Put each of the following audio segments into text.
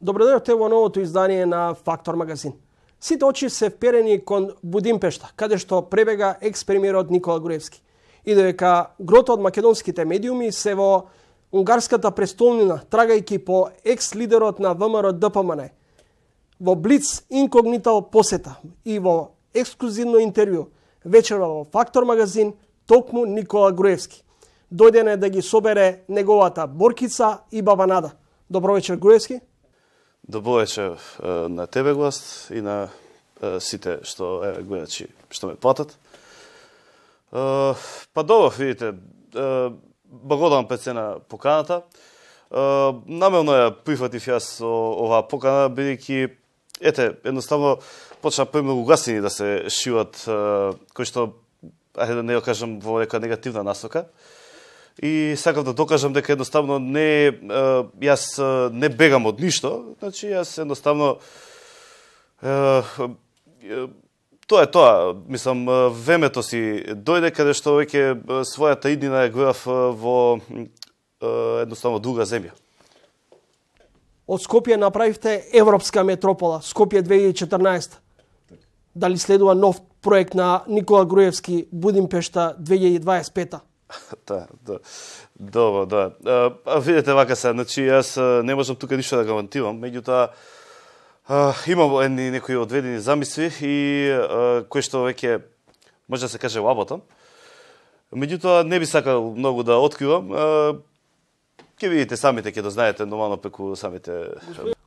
Добро дојдовте во новото издание на Фактор магазин. Сите очи се вперени кон Будимпешта, каде што пребега екс-премиерот Никола Груевски. И додека грото од македонските медиуми се во унгарската престолнина, трагајќи по екс-лидерот на ВМРО ДПМН, во Блиц инкогнитал посета и во ексклузивно интервју вечерва во Фактор магазин, токму Никола Груевски. Дојден е да ги собере неговата Боркица и баба Нада. Добро вечер, Груевски. Добро вечер на тебе, гост, и на сите што гледачи што ме платат. Па добро, видите, благодарам пред се на поканата. Намерно ја прифатив јас оваа покана, бидејќи едноставно почна премногу гласини да се шијат, кои што, ајде да не ја кажам во нека негативна насока. И сакав да докажам дека едноставно јас не бегам од ништо, значи јас едноставно тоа е тоа, мислам, времето си дојде каде што веќе својата иднина ја гледав во едноставно друга земја. Од Скопје направивте европска метропола, Скопје 2014. Дали следува нов проект на Никола Груевски, Будимпешта 2025? Добро, да. Видете вака се, значи јас не можам тука ништо да гарантирам, меѓутоа имам некои одведени замисли и кои што веќе може да се каже лаботам. Меѓутоа не би сакал многу да откривам. Ќе видите самите, ќе дознаете нормално преку самите.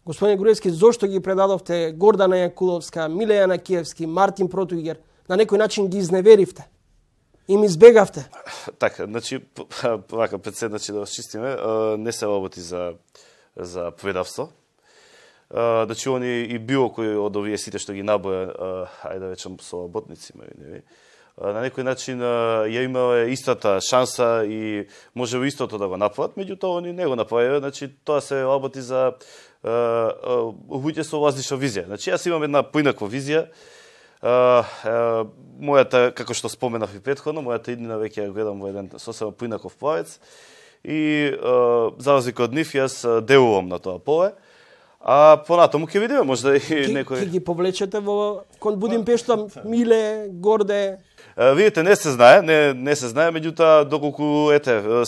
Господин Груевски, зошто ги предадовте Гордана Јакуловска, Милејана Киевски, Мартин Протуигер? На некој начин ги изневеривте? Им избегавте? Така, значи, вака пред се, значи, да расчистиме, не се работи за предавство. Значи, они и било кој од овие сите што ги наброја, ајде да речем, со работници, на некој начин ја имале истата шанса и може истото да го направат, меѓутоа они не го направиле, значи, тоа се работи за луѓе со различна визија. Значи, јас имам една поинаква визија. Мојата, како што споменав и претходно, мојата иднина веќе ја гледам во еден сосема поинаков правец и за разлика од нив јас делувам на тоа поле. А понатаму ќе видиме, можда и некој... Ќе ги повлечете во кон Будимпешта, Миле, Горде? Видите, не се знае, не се знае, меѓутоа доколку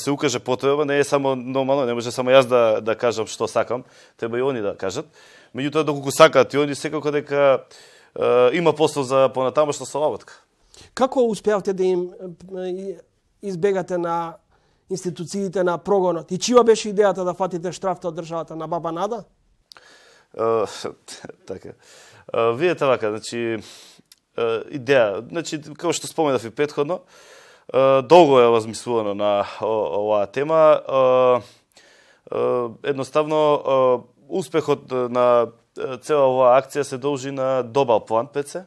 се укаже потреба, не е само нормално, не може само јас да кажам што сакам, треба и они да кажат. Меѓутоа доколку сакаат и они секако дека има послов за понатамошна соработка. Како успеавте да им избегате на институциите на прогонот? И чија беше идејата да фатите штрафта од државата на баба Нада? Така. Видете вака, значи идеја, значи како што споменав и претходно, долго е размислувано на оваа тема. Едноставно успехот на цела оваа акција се должи на добар план пред се,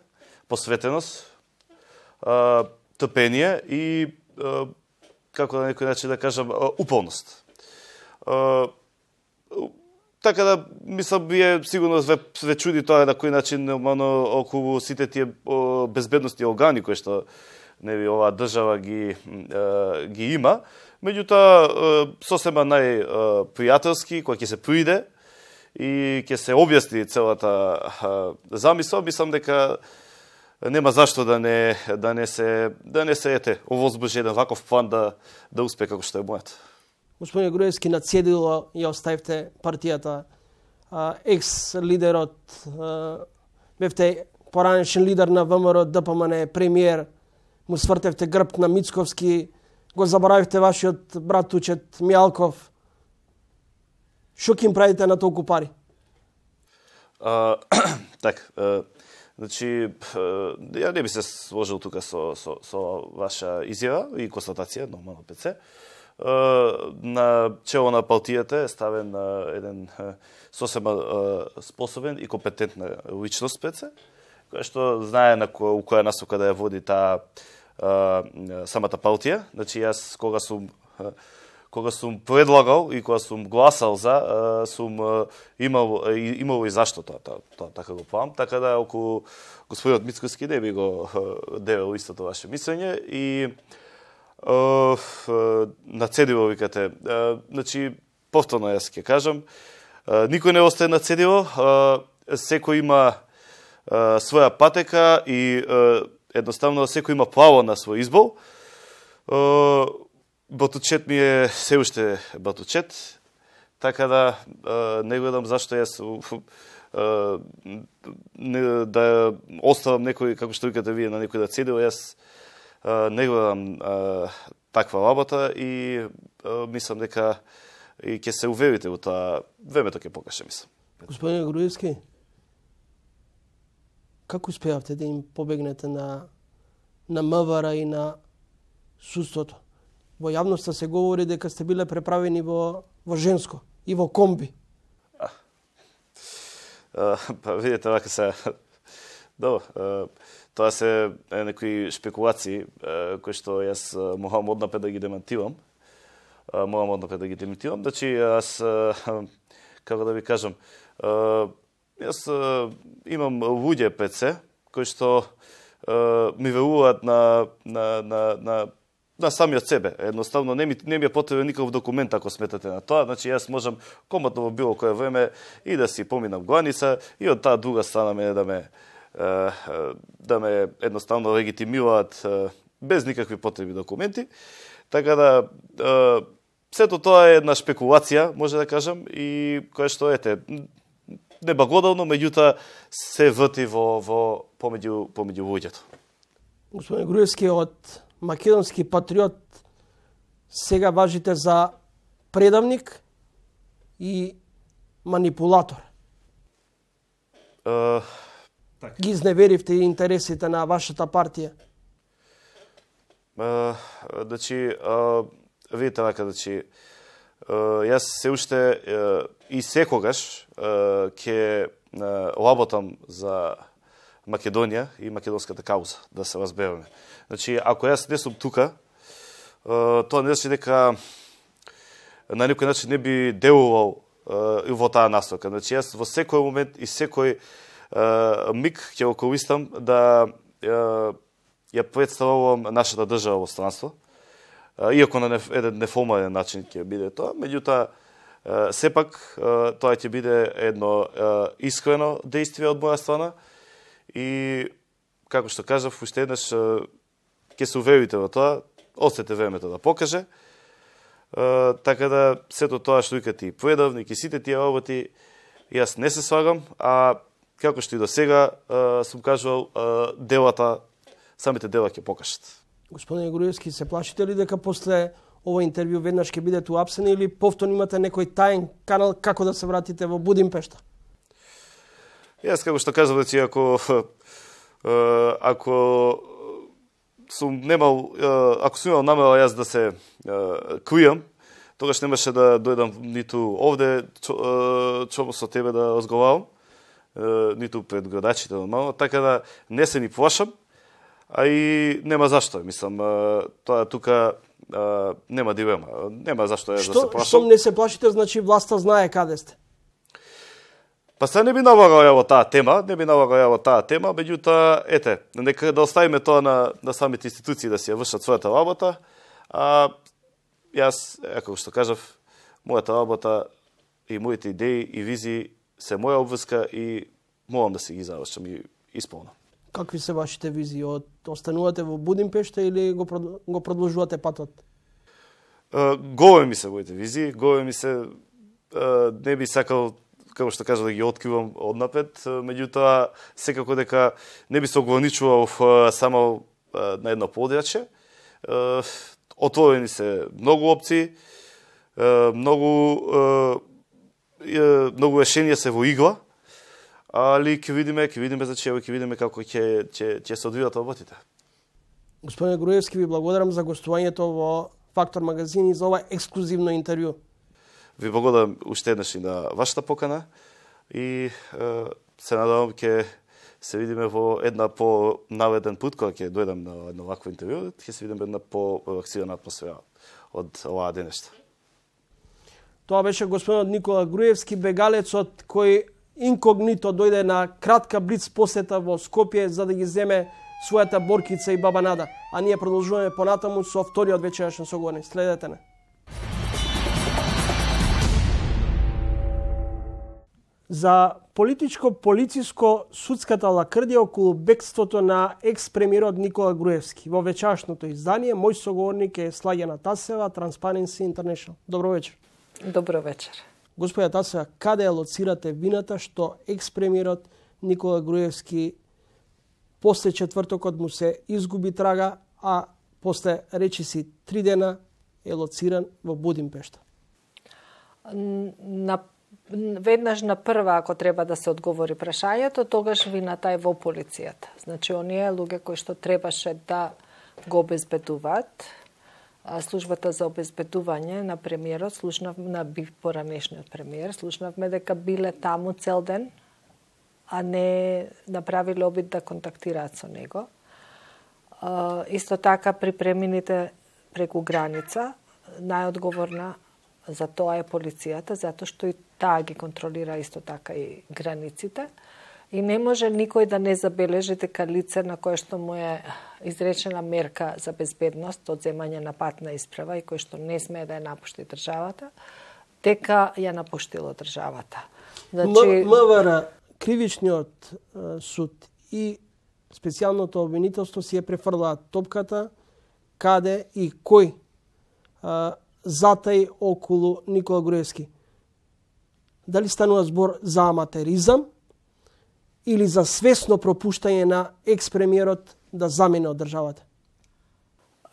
посветеност, трпение и, како на некој начин да кажам, упорност. Така да, мислам, вие сигурно ве чуди тоа на кој начин околу сите тие безбедностни органи кои што оваа држава ги има. Меѓутоа, сосема најпријателски, кој ќе се пријде и ќе се објасни целата замисла, мислам дека нема зашто да не се овозможи еден ваков план да успее како што е мојот. Господин Груевски, на цедило ја оставивте партијата, екс-лидерот, бевте поранешен лидер на ВМРО ДПМН, премиер, му свртевте грб на Мицковски, го заборавивте вашиот брат Тучет Мијалков. Што ќе им правите на толку пари? Така, значи, ја не би се сложил тука со ваша изјава и констатација, нормално пред се. На чело на партијата е ставен еден сосема способен и компетентна личност пред се, која што знае у која насока да ја води таа самата партија. Значи, јас кога сум предлагал и кога сум гласал за, сум имал и зашто тоа така го плам, така да околу господинот Мицковски не би го девел истото ваше мислење и на цедиво викате. Значи, повторно јас ќе кажам, Никој не остае на цедиво, секој има своја патека и едноставно секој има право на свој избор. Батучет ми е се уште батучет, така да не гледам зашто јас да оставам некој, како што викате вие, на некој да цедиво. Јас не гледам таква работа и мислам дека и ќе се уверите во тоа, времето ќе покаже, мислам. Господине Груевски, како успеавте да им побегнете на МВР и на судството? Во јавноста се говори дека сте биле преправени во женско и во комби. Па видите, вака се... Добро, тоа се некои шпекулации кои што јас морам однапред да ги демантирам. Значи, јас, како да ви кажам, јас имам луѓе пред се, кои што ми веруваат на самиот себе. Едноставно, не ми е потребен никаков документ ако сметате на тоа. Значи, јас можам комотно во било кое време и да си поминам граница и од таа друга страна мене да ме едноставно легитимираат без никакви потребни документи. Така да, сето тоа е една шпекулација, може да кажам, и која што неблагодарно, меѓутоа се врти помеѓу луѓето. Господин Груевски, од македонски патриот сега важите за предавник и манипулатор. Ги изневеривте интересите на вашата партија. Значи, видите вака, значи, јас се уште и секогаш ќе работам за Македонија и македонската кауза, да се разбереме. Значи, ако јас не сум тука, тоа не значи дека на некој начин не би делувал во таа насока. Значи, јас во секој момент и секој миг ќе го користам да ја представувам нашата држава во странство, иако на еден неформален начин ќе биде тоа, меѓутоа сепак тоа ќе биде едно искрено действие од моја страна и, како што кажав, уште еднаш ќе се уверите во тоа, остете времето да покаже, така да сето тоа што викате и предавник и сите тие работи, јас не се слагам, а како што и до сега сум кажувал, самите дела ќе покажат. Господине Груевски, се плашите ли дека после ова интервју веднаш ќе бидете уапсени или повторно имате некој таен канал како да се вратите во Будимпешта? Јас, како што кажав, значи, ако сум имал намера јас да се кријам, тогаш немаше да дојдам ниту овде со тебе да разговарам, ниту пред градачите нормално, така да не се ни плашам, а и нема зашто. Мислам, тоа тука нема дилема. Нема зашто да се плашам. Што не се плашите, значи власта знае каде сте? Па се не би налагал ја во таа тема, меѓутоа, нека да оставиме тоа на самите институции да си ја вршат својата работа, а јас, како што кажав, мојата работа и моите идеи и визии се моја обврска и морам да си ги завршам и исполнам. Какви се вашите визии? Останувате во Будимпешта или го продолжувате патот? Големи се моите визии, не би сакал, како што кажа, да ги откривам однапред, меѓутоа секако дека не би се ограничувал само на едно подрачје. Отворени се многу опции, многу решенија се во игла, али ќе видиме како ќе се одвијат работите. Господине Груевски, ви благодарам за гостувањето во Фактор магазин и за ова ексклузивно интервју. Ви благодарам уште еднаш и на вашата покана и се надевам ќе се видиме во една по-наведен пут кога ќе дојдам на едно вакво интервју, ќе се видиме една по-релаксирана атмосфера од оваа денешта. Тоа беше господинот Никола Груевски, бегалецот кој инкогнито дојде на кратка блиц посета во Скопје за да ги земе својата Боркица и баба Нада. А ние продолжуваме понатаму со вториот вечерашен соговорник. Следете не. за политичко-полициско-судската лакрдија околу бегството на екс-премиерот Никола Груевски. Во вечерашното издание, мој соговорник е Слагена Тасева, Transparency International. Добро вечер. Добро вечер. Господја Тасева, каде ја лоцирате вината што екс-премиерот Никола Груевски после четвртокот му се изгуби трага, а после речиси 3 дена е лоциран во Будимпешта? Веднаш на прва, ако треба да се одговори прашањето, тогаш вината е во полицијата. Значи, оние луѓе кои што требаше да го обезбедуваат, службата за обезбедување на премиерот, на поранешниот премиер, слушнавме дека биле таму цел ден, а не направиле обид да контактираат со него. Исто така при премините преку граница, најодговорна за тоа е полицијата, затоа што и таа ги контролира исто така и границите. И не може никој да не забележи дека лице на кое што му е изречена мерка за безбедност од земање на патна исправа и кој што не смее да ја напушти државата, дека ја напуштило државата. Значи, МВР, кривичниот суд и специјалното обвинителство си ја префрлаат топката каде и кој затај околу Никола Груевски. Дали станува збор за аматеризам или за свесно пропуштање на екс-премиерот да замине од државата?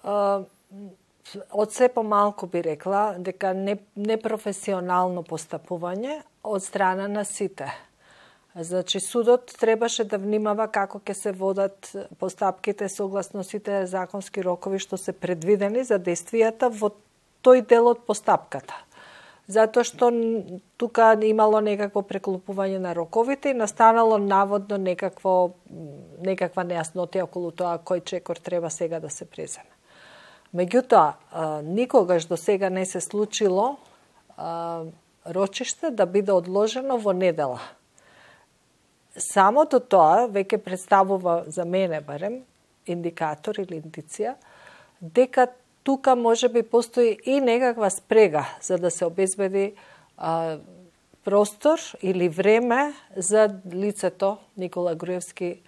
Од се помалку би рекла дека непрофесионално постапување од страна на сите. Значи, судот требаше да внимава како ќе се водат постапките согласно сите законски рокови што се предвидени за действијата во тој дел од постапката. Затоа што тука имало некакво преклопување на роковите и настанало наводно некаква нејаснотија околу тоа кој чекор треба сега да се преземе. Меѓутоа, никогаш до сега не се случило рочиште да биде одложено во недела. Самото тоа веќе представува за мене барем индикатор или индиција дека тука може би постои и некаква спрега за да се обезбеди простор или време за лицето Никола Груевски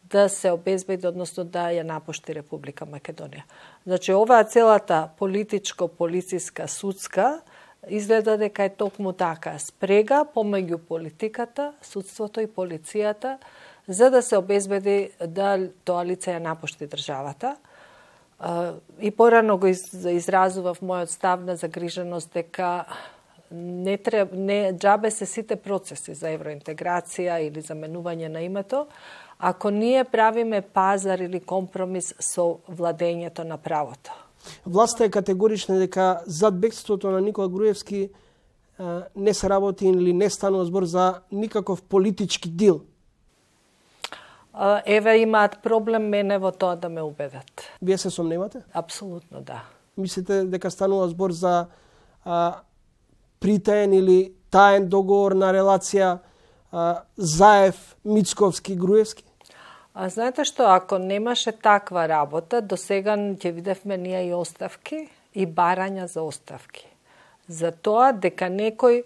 да се обезбеди, односно да ја напушти Република Македонија. Значи, оваа целата политичко-полициска судска изгледа дека е токму така спрега помеѓу политиката, судството и полицијата за да се обезбеди да тоа лице ја напушти државата. И порано го изразував мојот став на загриженост дека не џабе се сите процеси за евроинтеграција или заменување на името, ако ние правиме пазар или компромис со владењето на правото. Власта е категорична дека зад бегството на Никола Груевски не се работи или не станува збор за никаков политички дил. Еве имаат проблем мене во тоа да ме убедат. Вие се сомневате? Апсолутно да. Мислите дека станува збор за притаен или таен договор на релација Заев, Мицковски, Груевски? Знаете што, ако немаше таква работа, до сега ќе видевме ние и оставки и барања за оставки. За тоа дека некој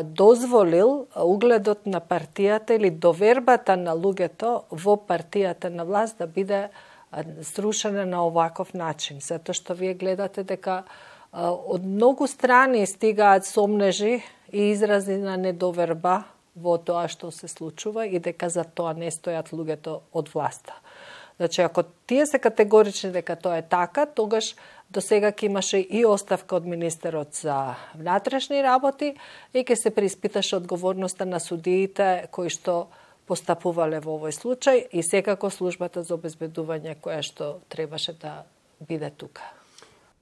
дозволил угледот на партијата или довербата на луѓето во партијата на власт да биде срушена на оваков начин. Затоа што вие гледате дека од многу страни стигаат сомнежи и изрази на недоверба во тоа што се случува и дека за тоа не стојат луѓето од власта. Значи, ако тие се категорични дека тоа е така, тогаш до сега ќе имаше и оставка од министерот за внатрешни работи и ќе се преиспиташе одговорноста на судиите кои што постапувале во овој случај и секако службата за обезбедување која што требаше да биде тука.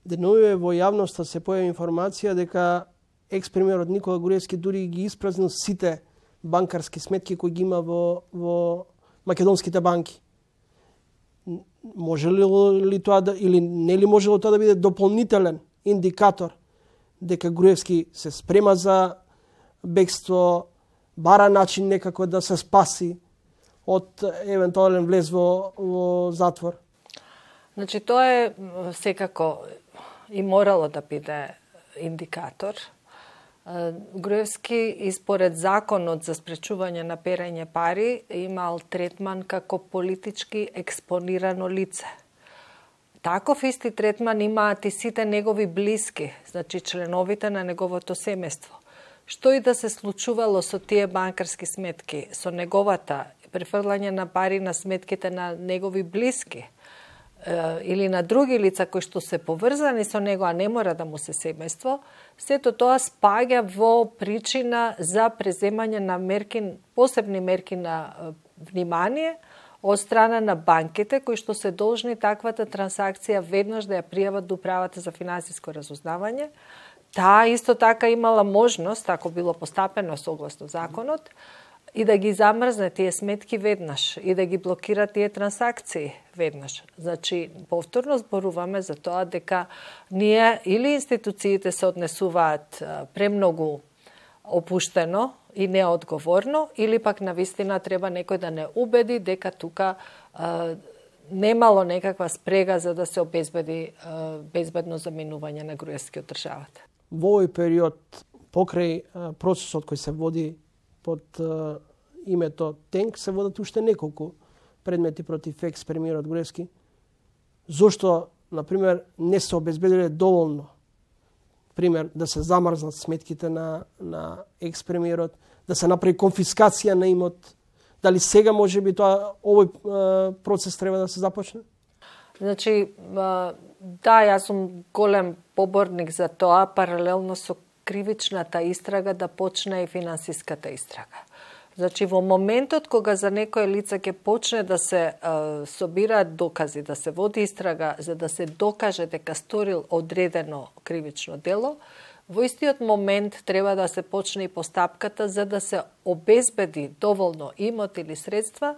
Деновиве во јавноста се појави информација дека екс-премиерот Никола Груевски дури ги испразнил сите банкарски сметки кои ги има во македонските банки. Може ли тоа да, или не ли можело тоа да биде дополнителен индикатор дека Груевски се спрема за бегство, бара начин некако да се спаси од евентуален влез во затвор? Значи, тоа е секако и морало да биде индикатор. Груевски и според законот за спречување на перење пари имал третман како политички експонирано лице. Таков исти третман имаат и сите негови блиски, значи членовите на неговото семејство. Што и да се случувало со тие банкарски сметки, со неговата префрлање на пари на сметките на негови блиски или на други лица кои што се поврзани со него, а не мора да му се семејство, сето тоа спаѓа во причина за преземање на мерки, посебни мерки на внимание од страна на банките кои што се должни таквата трансакција веднаш да ја пријават до Управата за финансиско разузнавање. Таа исто така имала можност, ако било постапено согласно законот, и да ги замрзне тие сметки веднаш и да ги блокира тие трансакции веднаш. Значи, повторно зборуваме за тоа дека ние или институциите се однесуваат премногу опуштено и неодговорно, или пак навистина треба некој да не убеди дека тука немало некаква спрега за да се обезбеди безбедно заминување на Груевски од државата. Во овој период, покрај процесот кој се води под името ТЕНК, се водат уште неколку предмети против екс-премиерот Груевски. Зошто, например, не се обезбедиле доволно, пример, да се замрзнат сметките на екс-премиерот, да се направи конфискација на имот? Дали сега може би овој процес треба да се започне? Значи, да, јас сум голем поборник за тоа, паралелно со кривичната истрага да почне и финансиската истрага. Значи, во моментот кога за некое лице ќе почне да се собираат докази, да се води истрага за да се докаже дека сторил одредено кривично дело, во истиот момент треба да се почне и постапката за да се обезбеди доволно имот или средства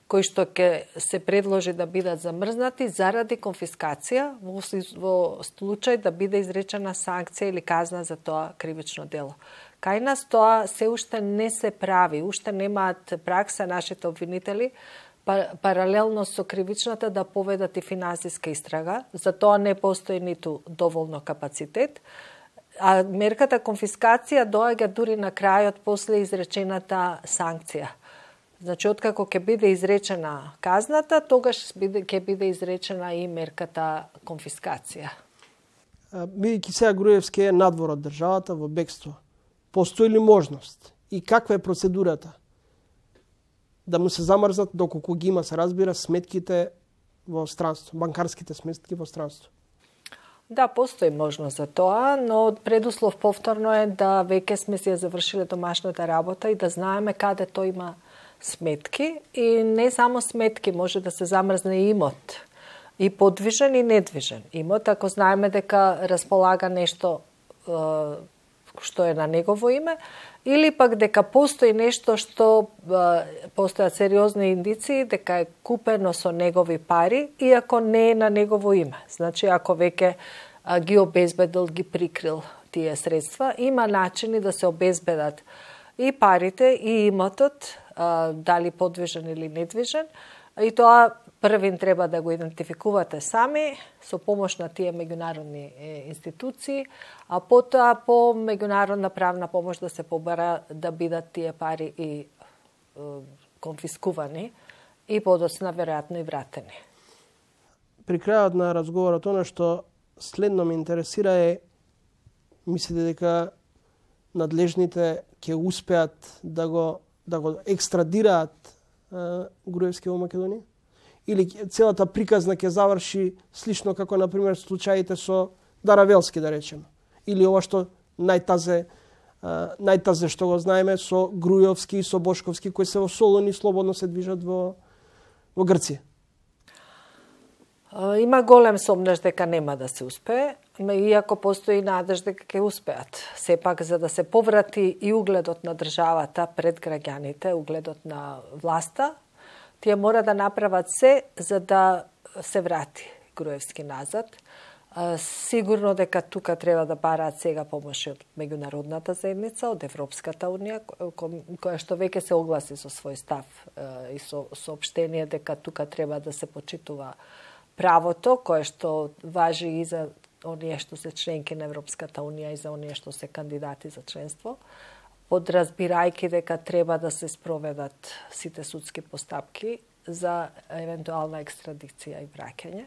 кои што ќе се предложи да бидат замрзнати заради конфискација во случај да биде изречена санкција или казна за тоа кривично дело. Кај нас тоа се уште не се прави, уште немаат пракса нашите обвинители паралелно со кривичната да поведат и финансиска истрага, за тоа не постои ниту доволно капацитет, а мерката конфискација доаѓа дури на крајот после изречената санкција. Значи, откако ќе биде изречена казната, тогаш ќе биде изречена и мерката конфискација. Бидејќи сега Груевски е надвор од државата во бегство, постои ли можност и каква е процедурата да му се замрзнат доколку ги има, се разбира, сметките во странство, банкарските сметки во странство? Да, постои можност за тоа, но предуслов повторно е да веќе сме си ја завршиле домашната работа и да знаеме каде тој има сметки, и не само сметки, може да се замрзне и имот, и подвижен и недвижен имот, ако знаеме дека располага нешто што е на негово име, или пак дека постои нешто што постојат сериозни индиции дека е купено со негови пари, иако не е на негово име. Значи, ако веќе ги обезбедил, ги прикрил тие средства, има начини да се обезбедат и парите, и имотот, дали подвижен или недвижен, и тоа првин треба да го идентификувате сами со помош на тие меѓународни институции, а потоа по меѓународна правна помош да се побара да бидат тие пари и конфискувани и подоцна веројатно и вратени. При крајот на разговорот, она што следно ме интересира е, мислите дека надлежните ќе успеат да го екстрадираат Груевски во Македонија? Или целата приказна ќе заврши слично како, например, случаите со Даравелски, да речеме? Или ова што најтазе што го знаеме со Груевски и со Бошковски, кои се во Солун и слободно се движат во Грција? Има голем сомнеш дека нема да се успее, иако постои надеж дека ќе успеат. Сепак, за да се поврати и угледот на државата пред граѓаните, угледот на власта, тие мора да направат се за да се врати Груевски назад. Сигурно дека тука треба да бараат сега помош од меѓународната заедница, од Европската унија, која што веќе се огласи со свој став и со соопштение дека тука треба да се почитува правото, кое што важи и за оние што се членки на Европската унија и за оние што се кандидати за членство, подразбирајќи дека треба да се спроведат сите судски постапки за евентуална екстрадиција и враќање.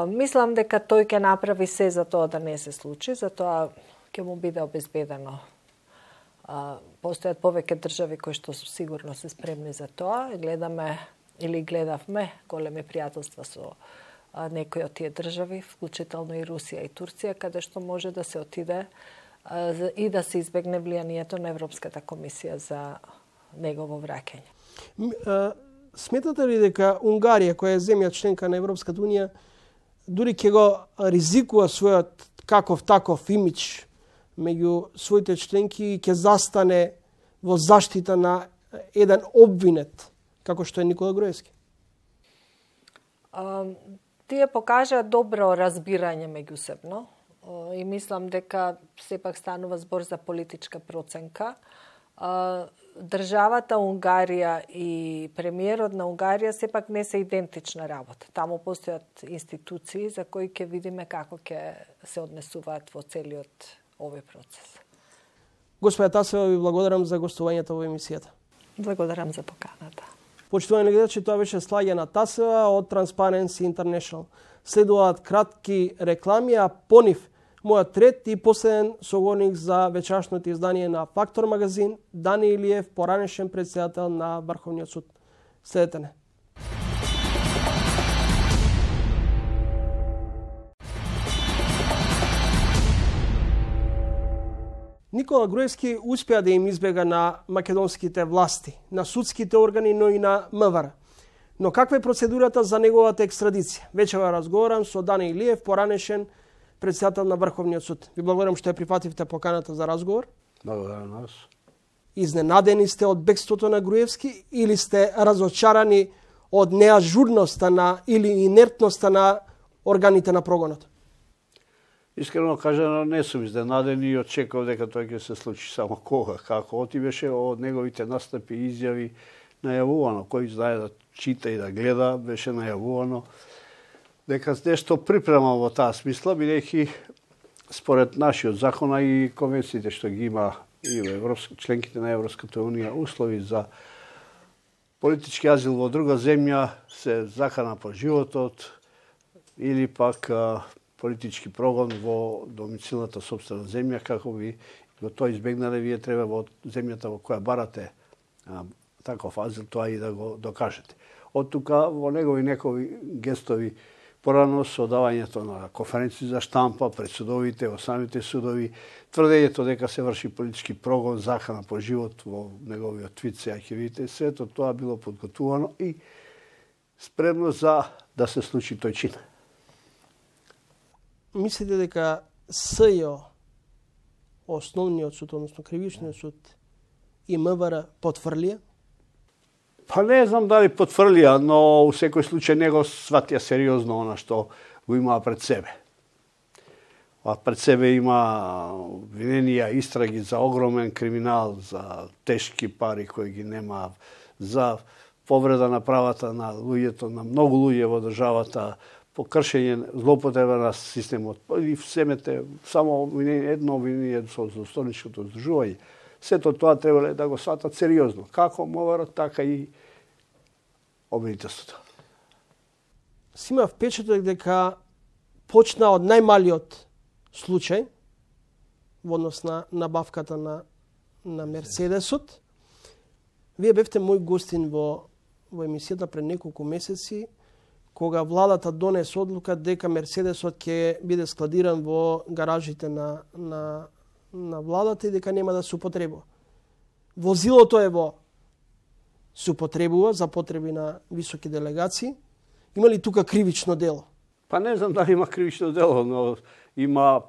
Мислам дека тој ќе направи се за тоа да не се случи, затоа ќе му биде обезбедено. Постојат повеќе држави кои што сигурно се спремни за тоа. Гледавме големи пријателства со некои од тие држави, вклучително и Русија и Турција, каде што може да се отиде и да се избегне влијанието на Европската комисија за негово враќање. Сметате ли дека Унгарија, која е земја членка на Европската унија, дури ќе го ризикува својот каков таков имидж меѓу своите членки и ќе застане во заштита на еден обвинет, како што е Никола Груевски? Тие покажа добро разбирање меѓусебно и мислам дека сепак станува збор за политичка проценка. Државата Унгарија и премиерот на Унгарија сепак не се идентична работа. Таму постојат институции за кои ќе видиме како ќе се однесуваат во целиот овој процес. Господја Тасева, ви благодарам за гостувањето во емисијата. Благодарам за поканата. Почитувани гледачи, тоа беше Слаѓана Тасева од Transparency International. Следуваат кратки реклами, а по нив мојот трет и последен соговорник за вечерашното издание на Фактор магазин, Дани Илиев, поранешен председател на Врховниот суд. Следете не. Никола Груевски успеа да им избега на македонските власти, на судските органи, но и на МВР. Но каква е процедурата за неговата екстрадиција? Вечера разговарам со Дани Илиев, поранешен председател на Врховниот суд. Ви благодарам што ја прифативте поканата за разговор. Благодарам нас. Изненадени сте од бегството на Груевски или сте разочарани од неажурноста или инертноста на органите на прогонот? Искрено кажано, не сум изненаден и очекував дека тоа ќе се случи, само кога, како отивеше од неговите настапи и изјави најавувано. Кој знае да чита и да гледа, беше најавувано дека нешто припрема во таа смисла, бидејќи според нашиот закона и конвенциите што ги има и во членките на Европската унија, услови за политички азил во друга земја се закана по животот или пак политички прогон во домицилната сопствена земја, како би го тоа избегнале, вие треба во земјата во која барате таков азил, тоа и да го докажете. Од тука во негови некои гестови порано со давањето на конференции за штампа пред судовите, во самите судови, тврдењето дека се врши политички прогон, закана по живот во неговиот твит, сега ќе видите, сето тоа било подготувано и спремно за да се случи тој чин. Мислите дека СЈО, основниот суд, односно кривичниот суд и МВР потврлија? Па не знам дали потврлија, но у секој случај него сватија сериозно она што го имаа пред себе. А пред себе има обвиненија, истраги за огромен криминал, за тешки пари кои ги нема, за повреда на правата на луѓето, на многу луѓе во државата, по кршење, злоупотреба на системот, и семете само едно обвинение со злосторничкото здружување. Сето тоа требале да го сватат сериозно, како МВР, така и обвинителството. Си има впечаток дека почна од најмалиот случај во однос на набавката на Мерцедесот. Вие бевте мој гостин во емисијата пред неколку месеци, кога владата донесе одлука дека Мерцедесот ќе биде складиран во гаражите на владата и дека нема да се употребува. Возилото е се употребува за потреби на високи делегации. Има ли тука кривично дело? Па не знам дали има кривично дело, но има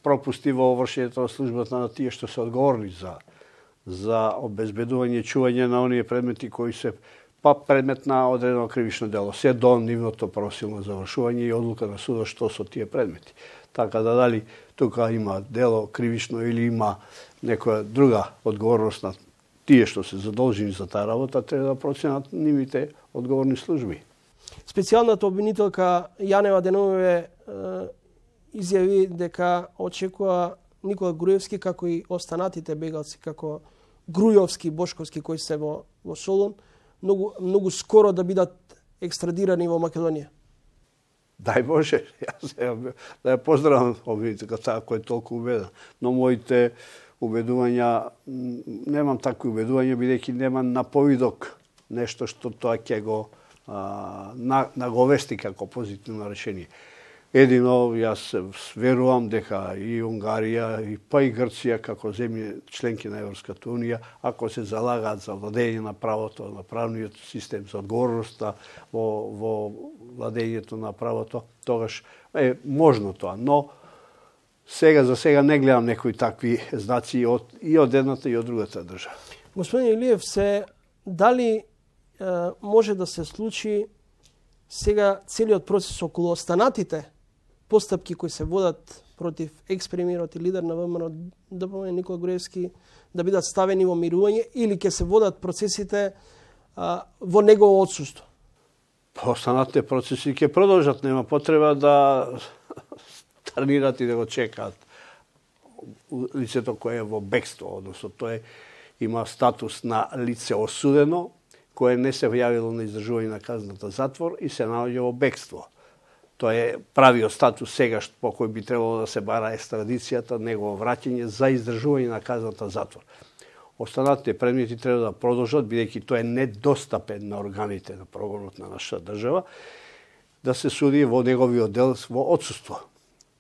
пропусти во вршењето на службата на тие што се одговорни за обезбедување и чување на оние предмети кои се предмет на одредено кривично дело. Се до нивното просилно завршување и одлука на судот што со тие предмети. Така да дали тука има дело кривично или има некоја друга одговорност на тие што се задолжени за таа работа, треба да проценат нивните одговорни служби. Специјалната обвинителка Јанева деновиве изјави дека очекува Никола Груевски, како и останатите бегалци, како Грујовски, Бошковски, кои се во Солун, многу скоро да бидат екстрадирани во Македонија. Дај Боже, јас да ја поздравам овие таа кој е толку убеден, но моите убедувања, немам такви убедувања, бидејќи немам на повидок нешто што тоа ќе го наговести како позитивно решение. Едино, јас верувам дека и Унгарија, па и Грција, како земји членки на Европската Унија, ако се залагаат за владење на правото, на правниот систем, за одговорноста во владењето на правото, тогаш е можно тоа. Но сега за сега не гледам некои такви знаци и од едната и од другата држава. Господин Илиев, дали може да се случи сега целиот процес околу останатите постапки кои се водат против екс-премиерот и лидер на ВМРО ДПМН Никола Груевски да бидат ставени во мирување или ќе се водат процесите во негово отсуство? Останатите процеси ќе продолжат, нема потреба да тренират и да го чекаат лицето кое е во бегство, односно тоа има статус на лице осудено, кое не се јавило на издржување на казната затвор и се наоѓа во бегство. Тоа е правиот статус сега по кој би требало да се бара екстрадицијата, негово враќање за издржување на казната затвор. Останатите предмети треба да продолжат, бидејќи тоа е недостапен на органите на прогонот на нашата држава, да се суди во неговиот дел во отсуство.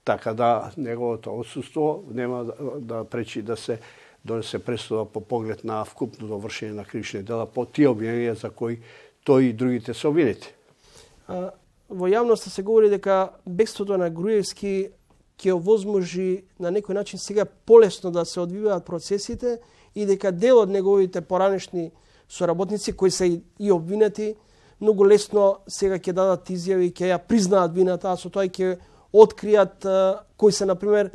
Така да неговото отсуство нема да пречи да се донесе пресуда по поглед на вкупното вршење на кривични дела по тие обвиненија за кои тој и другите се обвинети. Во јавноста се говори дека бегството на Груевски ќе овозможи на некој начин сега полесно да се одвиваат процесите и дека дел од неговите поранешни соработници кои се и обвинети многу лесно сега ќе дадат изјави, ќе ја признаат вината, а со тоа ќе откријат кои се, например,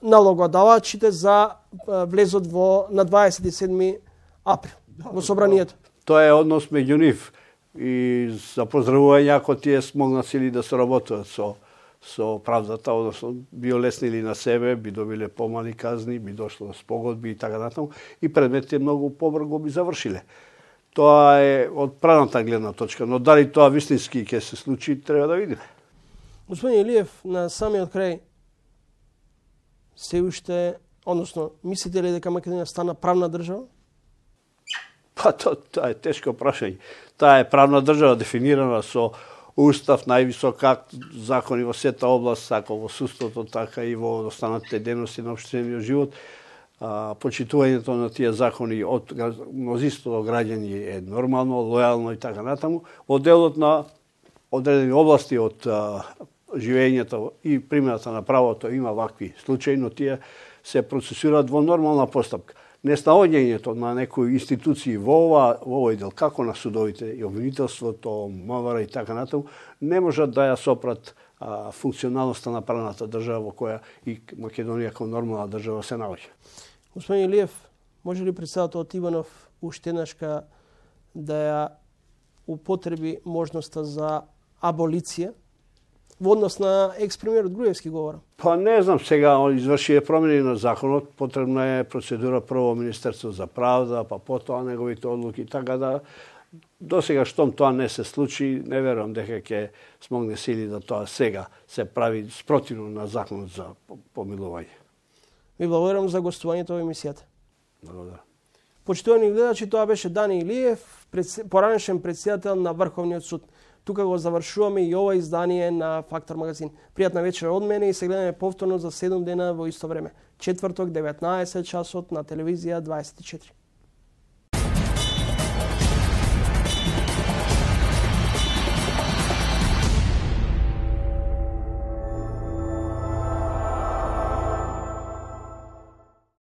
налогодавачите за влезот на 27 април во собранието. Тоа е однос меѓу нив и за поздравување ако тие смогнали да соработуваат со правдата, односно би олеснили на себе, би добиле помали казни, би дошло до спогодби и така натаму и предметите многу побрзо би завршиле. Тоа е од правната гледна точка, но дали тоа вистински ќе се случи, треба да видиме. Господин Илиев, на самиот крај, се уште, односно, мислите ли дека Македонија стана правна држава? Па тоа е тешко прашање. Таа е правна држава дефинирана со устав, највисок акт, закони во сета област, како во судството, така и во останатите дејности на општествениот живот. Почитувањето на тие закони од мнозинството граѓани е нормално, лојално и така натаму. Во делот на одредени области од живењето и примената на правото има вакви случаи, но тие се процесираат во нормална постапка. Неснаоѓањето на некои институции во овој дел, како на судовите и обвинителството, МВР и така натаму, не можат да ја сопрат функционалноста на правната држава во која и Македонија како нормална држава се наоѓа. Господин Илиев, може ли председателот Иванов уште еднашка да ја употреби можноста за аболиција во однос на екс-премиерот Груевски говорам? Па не знам, сега изврши промени на законот, потребна е процедура прво Министерство за правда, па потоа неговите одлуки, така да до сега штом тоа не се случи, не верувам дека ќе смогне сили да тоа сега се прави спротивно на законот за помилување. Ви благодарам за гостувањето во емисијата. Благодарам. Почитувани гледачи, тоа беше Дани Илиев, поранешен претседател на Врховниот суд. Тука го завршуваме и ова издание на Фактор магазин. Пријатна вечер од мене и се гледаме повторно за 7 дена во исто време. Четврток, 19 часот на телевизија 24.